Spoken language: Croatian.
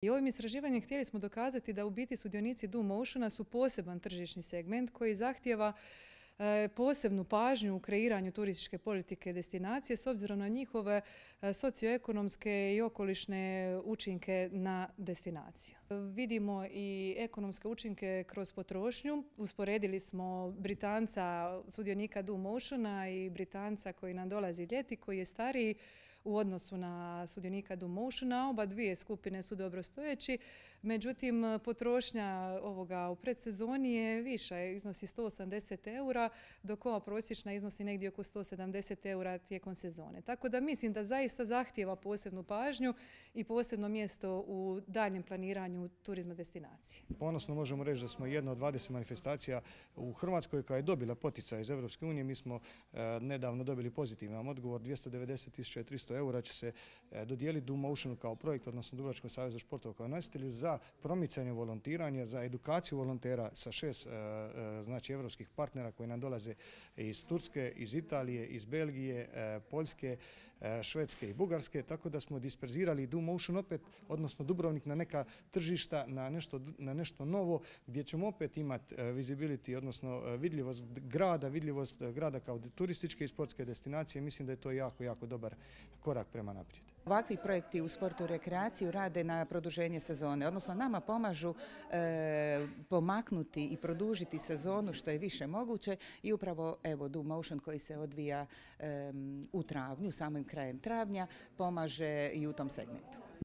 I ovim istraživanjem htjeli smo dokazati da u biti sudionici Do Motiona su poseban tržišni segment koji zahtijeva posebnu pažnju u kreiranju turističke politike destinacije s obzirom na njihove socioekonomske i okolišne učinke na destinaciju. Vidimo i ekonomske učinke kroz potrošnju. Usporedili smo Britanca, sudionika Do Motiona i Britanca koji nam dolazi ljeti, koji je stariji u odnosu na sudionika Do Motiona. Oba dvije skupine su dobrostojeći, međutim potrošnja ovoga u predsezoni je viša, iznosi 180 eura, dok ova prosječna iznosi negdje oko 170 eura tijekom sezone. Tako da mislim da zaista zahtijeva posebnu pažnju i posebno mjesto u daljnjem planiranju turizma destinacije. Ponosno možemo reći da smo jedna od 20 manifestacija u Hrvatskoj koja je dobila poticaj iz Europske unije. Mi smo nedavno dobili pozitivan odgovor, 290.300 eura će se dodijeliti Do Motionu kao projekt, odnosno Dubrovačkom savezu športova kao nositelju za promicanje volontiranja, za edukaciju volontera sa 6 znači europskih partnera koji nam dolaze iz Turske, iz Italije, iz Belgije, Poljske, Švedske i Bugarske, tako da smo disperzirali Do Motion opet, odnosno Dubrovnik na neka tržišta, na nešto novo gdje ćemo opet imati visibility, odnosno vidljivost grada kao turističke i sportske destinacije. Mislim da je to jako, jako dobar korak prema naprijed. Ovakvi projekti u sportu i rekreaciju rade na produženje sezone, odnosno nama pomažu pomaknuti i produžiti sezonu što je više moguće i upravo evo Do Motion koji se odvija u travnju, samim krajem travnja, pomaže i u tom segmentu.